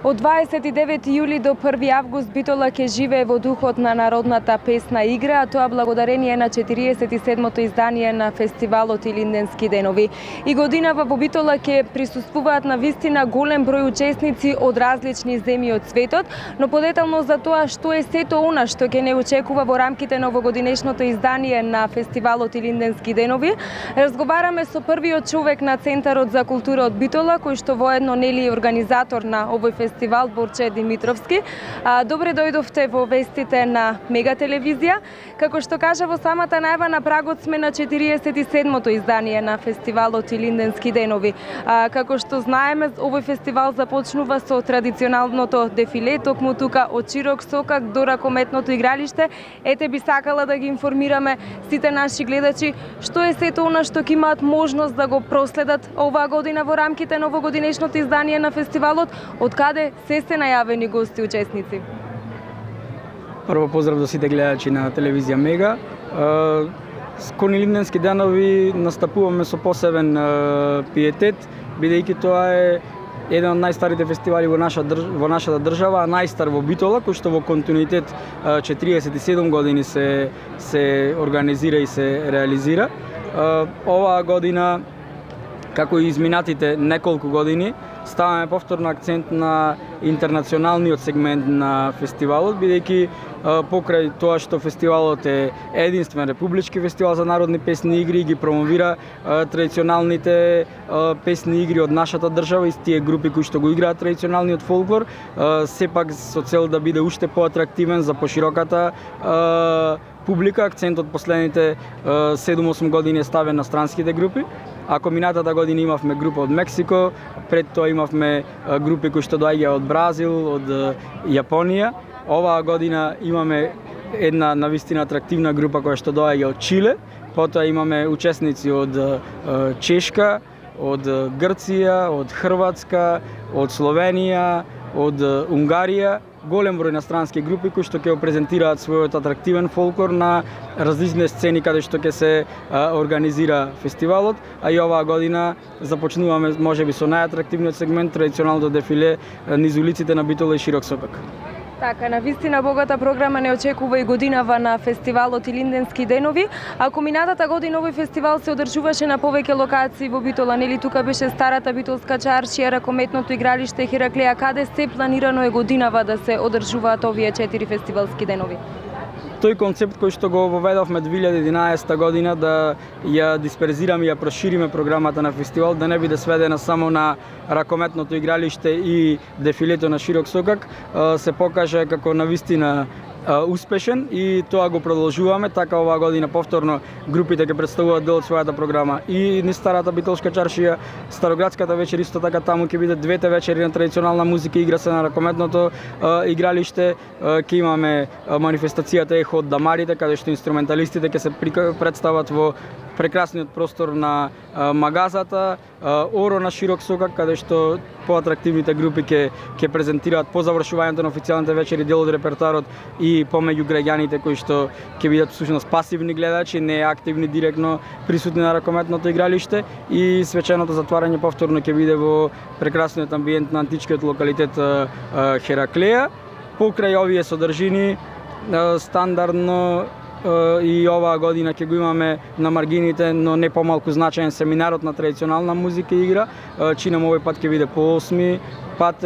Од 29 јули до 1 август Битола ќе живее во духот на народната песна игра, а тоа благодарение на 47-то издание на фестивалот Илинденски денови. И годинава во Битола ќе присуствуваат на вистина голем број учесници од различни земји од светот, но подетално за тоа што е сето она што ќе не очекува во рамките на овогодинешното издание на фестивалот Илинденски денови, разговараме со првиот човек на Центарот за култура од Битола, кој што воедно нели е организатор на овој фестивал, Борче Димитровски. Добре дојдовте во вестите на Мега телевизија. Како што кажа во самата најава, на прагот сме на 47-то издание на фестивалот Илинденски денови. Како што знаеме, овој фестивал започнува со традиционалното дефиле, токму тука од Широк Сокак до ракометното игралиште. Ете би сакала да ги информираме сите наши гледачи што е сето она што ќе имаат можност да го проследат оваа година во рамките на овогодинешното издание на фестивалот, од каде се најавени гости учесници. Прво поздрав до сите гледачи на телевизија Мега. Кон Илинденски денови настапуваме со посебен пиетет, бидејќи тоа е еден од најстарите фестивали во нашата држава, а најстар во Битола, кој што во континуитет 47 години се организира и се реализира. Оваа година, како и изминатите неколку години, ставаме повторно акцент на интернационалниот сегмент на фестивалот, бидејќи покрај тоа што фестивалот е единствен републички фестивал за народни песни и игри, ги промовира традиционалните песни и игри од нашата држава и тие групи кои што го играат традиционалниот фолклор, сепак со цел да биде уште поатрактивен за пошироката публика. Акцентот последните 7-8 години е ставен на странските групи. Ако минатата година имавме група од Мексико, пред тоа имавме групи кои што доаѓаа од Бразил, од Јапонија. Оваа година имаме една навистина атрактивна група која што доаѓа од Чиле, потоа имаме учесници од Чешка, од Грција, од Хрватска, од Словенија, од Унгарија, голем број на странски групи кои што ќе презентираат својот атрактивен фолклор на различни сцени каде што ќе се организира фестивалот, а и оваа година започнуваме можеби со најатрактивниот сегмент, традиционалното дефиле низ улиците на Битола и Широк Сокак. Така, на вистина богата програма не очекува и годинава на фестивалот Илинденски денови. Ако минатата година овој фестивал се одржуваше на повеќе локации во Битола, нели тука беше старата битолска чаршија, ракометното игралиште Хераклеја, каде се планирано е годинава да се одржуваат овие 4 фестивалски денови? Тој концепт кој што го воведовме 2011 година да ја дисперзираме и ја прошириме програмата на фестивал, да не биде сведена само на ракометното игралиште и дефилето на Широк Сокак, се покаже како навистина успешен и тоа го продолжуваме. Така оваа година повторно групите ќе представуваат дел од својата програма и низ старата битолска чаршија, Староградската вечер, исто така таму ќе бидат двете вечери на традиционална музика, игра се на ракометното игралиште, ќе имаме манифестацијата Ехо од Дамарите, каде што инструменталистите ќе се представат во прекрасниот простор на магазата, Оро на Широк Сокак, каде што поатрактивните групи ќе презентираат по завршувањето на официјалните вечери дел од репертоарот и помеѓу граѓаните кои што ќе бидат всушност пасивни гледачи, не активни директно присутни на ракометното игралиште, и свеченото затварање повторно ќе биде во прекрасниот амбиент на античкиот локалитет Хераклеја. Покрај овие содржини стандардно и оваа година ќе го имаме на маргините, но не помалку значаен, семинарот на традиционална музика и игра. Чинам овој пат ќе биде по 8 пат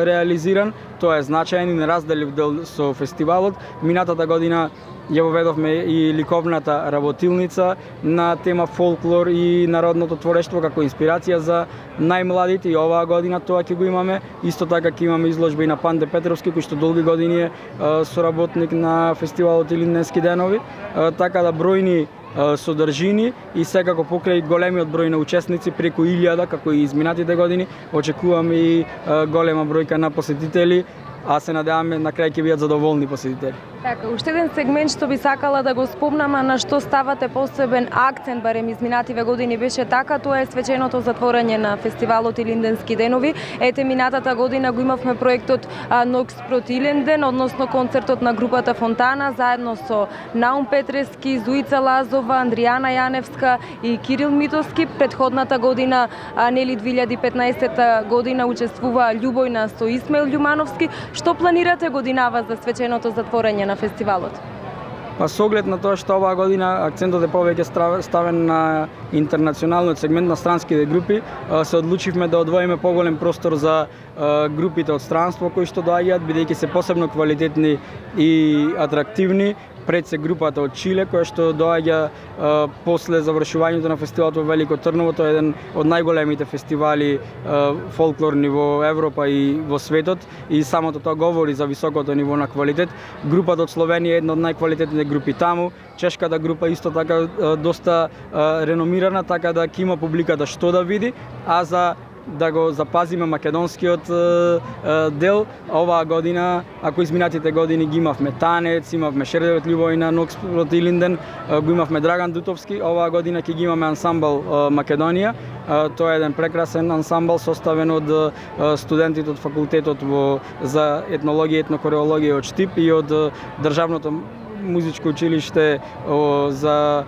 реализиран. Тоа е значаен и неразделив дел со фестивалот. Минатата година ја воведовме и ликовната работилница на тема фолклор и народното творештво како инспирација за најмладите, и оваа година тоа ќе го имаме. Исто така ќе имаме изложба и на Панде Петровски, кој што долги години е соработник на фестивалот Илинденски денови. Така да бројни содржини и секако покрај големиот број на учесници, преку 1000 како и изминатите години, очекуваме и голема бројка на посетители, а се надеваме на крај ќе бидат задоволни посетители. Така, уште еден сегмент што би сакала да го спомнам, а на што ставате посебен акцент, барем изминативе години беше така, тоа е свеченото затворање на фестивалот Илинденски денови. Ете, минатата година го имавме проектот Нокс проти Илинден, односно концертот на групата Фонтана, заедно со Наум Петрески, Зуица Лазова, Андријана Јаневска и Кирил Митовски. Предходната година, нели 2015 година, учествува Љубојна со Исмаил Љумановски. Што планирате годинава за свеченото затворање на фестивалот? Па со оглед на тоа што оваа година акцентот е повеќе ставен на интернационалниот сегмент на странските групи, се одлучивме да одвоиме поголем простор за групите од странство кои што доаѓаат, бидејќи се посебно квалитетни и атрактивни. Пред се групата од Чиле, која што доаѓа после завршувањето на фестивалот во Велико Трново. Тоа е еден од најголемите фестивали фолклорни во Европа и во светот, и самото тоа говори за високото ниво на квалитет. Групата од Словенија е една од најквалитетните групи таму. Чешката група исто така доста реномирана, така да ќе има публиката што да види, а за да го запазиме македонскиот дел, оваа година, ако изминатите години ги имавме Танец, имавме Шердевет Љубојна, Нокс проти Илинден, го имавме Драган Дутовски, оваа година ќе ги имаме ансамбл Македонија. Тоа е еден прекрасен ансамбл составен од студентите од факултетот за етнологија и етнокореологија од Штип и од Државното музичко училиште за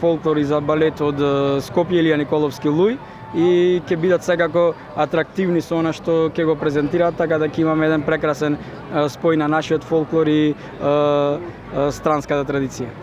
фолклор и за балет од Скопје Илија Николовски Луј, и ќе бидат секако атрактивни со она што ќе го презентираат, така да ќе имаме еден прекрасен спој на нашиот фолклор и странската традиција.